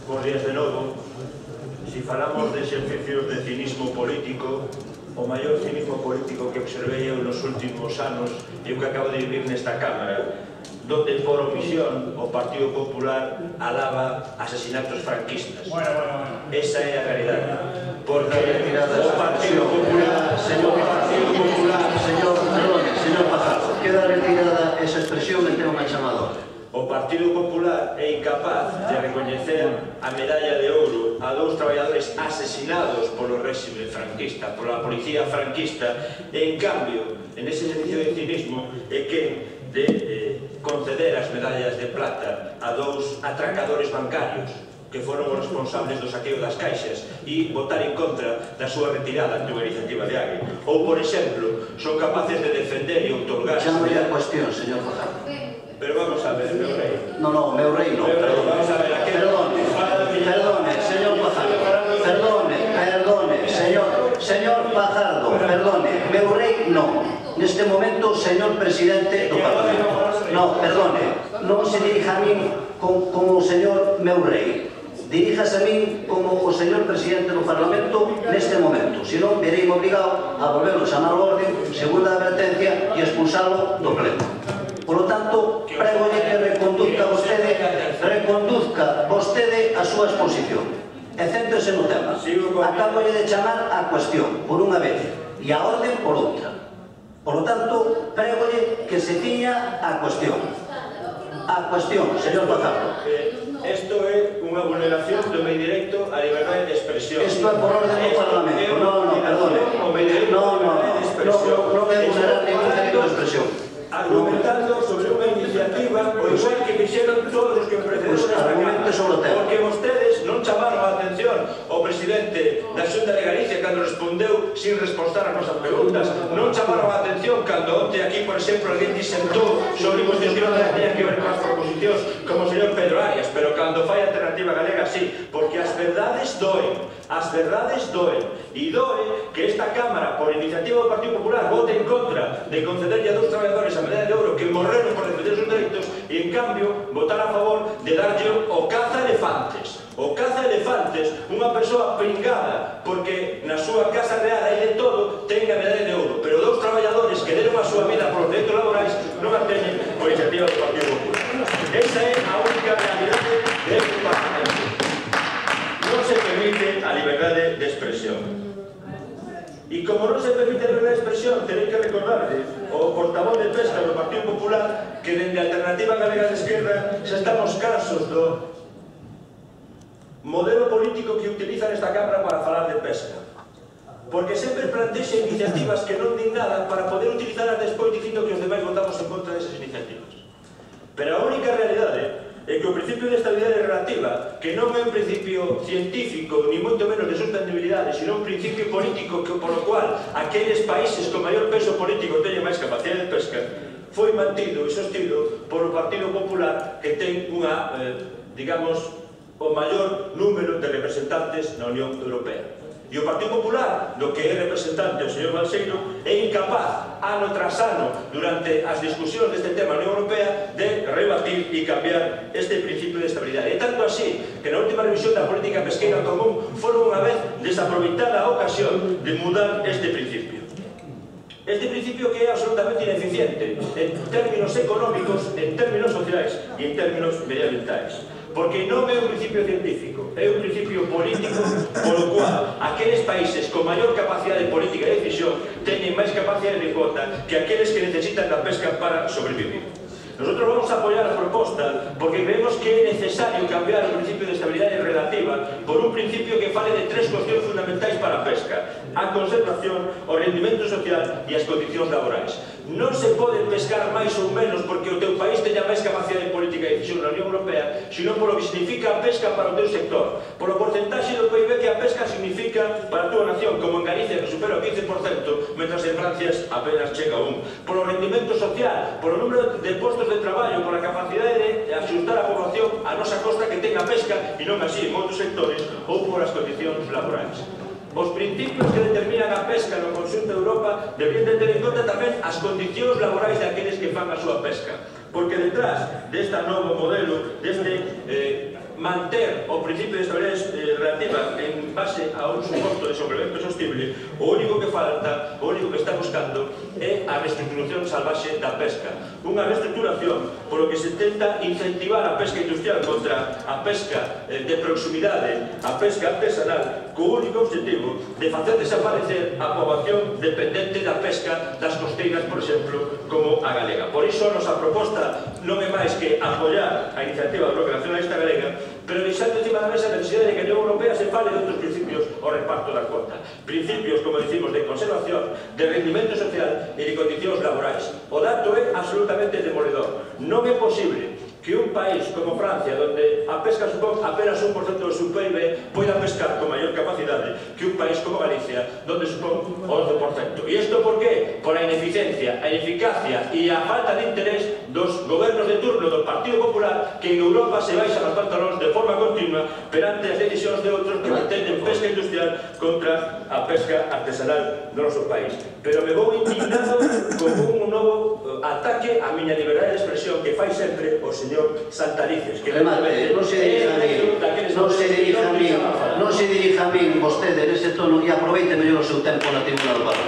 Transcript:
Bos días de novo. Si falamos de exercicios de cinismo político, o maior cinismo político que observei eu nos últimos anos e o que acabo de vivir nesta Cámara, donde por omisión o Partido Popular alaba asesinatos franquistas. Esa é a realidade. Porque o Partido Popular, señor Fajardo, queda retirada esa expresión en tema chamador. O Partido Popular é incapaz de recoñecer a medalla de ouro a dous traballadores asesinados polo réxime franquista, pola policía franquista, e en cambio, en ese ejercicio de cinismo, é que de conceder as medallas de plata a dous atracadores bancarios que foron os responsables do saqueo das caixas e votar en contra da súa retirada ante unha iniciativa de Agui. Ou, por exemplo, son capaces de defender e outorgar... Chamo-lle a cuestión, señor Fajardo. Pero vamos a ver, meu rei. No, meu rei non, perdone. Perdone, señor Fajardo. Perdone, señor Fajardo, perdone. Meu rei non. Neste momento, señor presidente do Parlamento. No, perdone. Non se dirija a min como o señor meu rei. Diríjase a min como o señor presidente do Parlamento neste momento. Se non, verei obrigado a volverlo a chamar ao orden, segunda advertencia, e expulsalo do pleno. Por lo tanto, prégolle que reconduzca vostede a súa exposición. E céntrese no tema. Acábolle de chamar a cuestión, por unha vez, e a orden por outra. Por lo tanto, prégolle que se ciña a cuestión. A cuestión, señor Fajardo. Isto é unha vulneración do meu directo á liberdade de expresión. Isto é por orden do Parlamento. No, perdone. Non é vulnerar ningún dereito de expresión. Argumentando sobre unha iniciativa o igual que fixeron todos os que precederon esta Cámara, porque vostedes non chamaron a atención ao presidente da Xunta de Galicia cando respondeu sin responstar as nosas preguntas, non chamaron a atención cando onte aquí, por exemplo, alguén disentou sobre cuestións que non tenían que ver con as proposicións como o señor Pedro Arias, pero cando fai a Alternativa Galega sí, porque as verdades doen, e doe que esta Cámara, por iniciativa do Partido Popular, vote en contra de concederlle a dous traballadores a medalla de ouro que morreron por defender os seus dereitos e, en cambio, votar a favor de darlle o caza elefantes. O caza elefantes, unha persoa pringada, porque na súa casa real hai de todo, ten a medalla de ouro, pero dous traballadores que deron a súa vida por os dereitos laborais non a teñen por iniciativa do Partido Popular. Esa é a única realidade deste Parlamento. Non se permite a liberdade de expresión. E como non se permite a liberdade de expresión, terei que recordarle ao portavoz de Pesca do Partido Popular que dende a Alternativa Galega de Esquerda xa estamos cansos do modelo político que utiliza nesta Cámara para falar de pesca. Porque sempre plantexa iniciativas que non din nada para poder utilizarlas despois dicindo que os demais votamos en contra desas iniciativas. Pero a única realidade é que o principio de estabilidade relativa, que non é un principio científico, ni moito menos de sustentabilidade, sino un principio político por o cual aqueles países con maior peso político teñen máis capacidade de pesca, foi mantido e sostido por o Partido Popular, que ten unha, digamos, o maior número de representantes na Unión Europea. E o Partido Popular, do que é representante o señor Balseiro, é incapaz, ano tras ano, durante as discusións deste tema na Unión Europea, de rebatir e cambiar este principio de estabilidade. E tanto así, que na última revisión da política pesqueira común foron unha vez desaproveitada a ocasión de mudar este principio. Este principio que é absolutamente ineficiente en términos económicos, en términos sociais e en términos medioambientais. Porque non é un principio científico, é un principio político polo cual aqueles países con maior capacidade política de decisión teñen máis capacidade de cuota que aqueles que necesitan da pesca para sobrevivir. Nosotros vamos a apoiar a proposta porque creemos que é necesario cambiar o principio de estabilidade relativa por un principio que fale de tres cuestións fundamentais para a pesca: a conservación, o rendimento social e as condicións laborais. Non se pode pescar máis ou menos porque o teu país teña máis capacidade política de decisión na Unión Europea, sino polo que significa a pesca para o teu sector, polo porcentaxe do PIB que a pesca significa para a tua nación, como en Galicia, que supera o 15%, mentras en Francia apenas chega a 1%. Polo rendimento social, polo número de postos de traballo, pola capacidade de axustar a población a nosa costa que ten a pesca e non así en outros sectores, ou por as condicións laborais. Os principios que determinan a pesca no conxunto de Europa deberían de ter en conta tamén as condicións laborais daqueles que fan a súa pesca, porque detrás deste novo modelo, deste manter o principio de estabilidade relativa en base a un suposto desenvolvemento sostible, o único que falta, o único que está buscando é a reestructuración salvaxe da pesca. Unha reestructuración polo que se tenta incentivar a pesca industrial contra a pesca de proximidade, a pesca artesanal, co único objetivo de facer desaparecer a poboación dependente da pesca das costeiras, por exemplo, como a galega. Por iso a nosa proposta non é máis que apoiar a iniciativa do Bloque Nacionalista Galega, pero deixando encima da mesa a necesidade de que a Unión Europea se fale de outros principios ao reparto da cuota. Principios, como dicimos, de conservación, de rendimento social e de condicións laborais. O dato é absolutamente demoledor. Non é posible que un país como Francia, donde a pesca supón apenas 1% do seu PIB, poida pescar con maior capacidade que un país como Galicia, donde supón o 11%. E isto por qué? Por a ineficiencia, a ineficacia e a falta de interés dos gobernos de turno do Partido Popular, que en Europa se baixan os pantalóns de forma continua perante as decisións de outros que mantenen pesca industrial contra a pesca artesanal do noso país. Pero me vou indignado con un novo ataque á miña liberdade de expresión que fai sempre o señor Santalices. Remate, non se dirija a min vostede nese tono e aproveite mellor o seu tempo na tribuna do Parlamento.